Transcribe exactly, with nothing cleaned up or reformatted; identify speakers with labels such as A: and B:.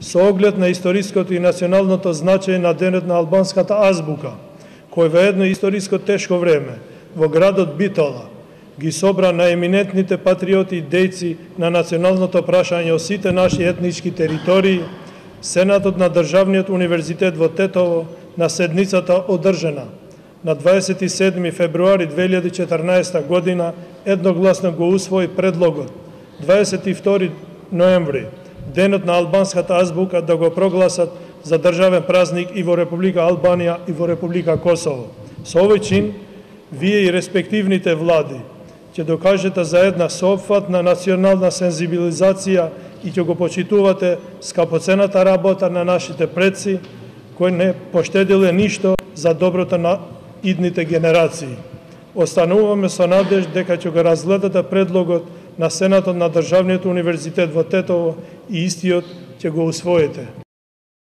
A: Со оглед на историското и националното значење на денот на албанската азбука, кој во едно историско тешко време во градот Битола ги собра наеминентните патриоти и дејци на националното прашање о сите наши етнички територии, Сенатот на Државниот универзитет во Тетово на седницата одржана на дваесет и седми февруари две илјади и четрнаесета година едногласно го усвои предлогот дваесет и втори ноември, денот на албанската азбука, да го прогласат за државен празник и во Република Албанија и во Република Косово. Со овој чин, вие и респективните влади ќе докажете за една соопфатна национална сензибилизација и ќе го почитувате скапоцената работа на нашите предци, кои не поштедиле ништо за доброто на идните генерации. Остануваме со надеж дека ќе го разгледате предлогот на Сенатот на Државниот универзитет во Тетово и истиот ќе го усвоите.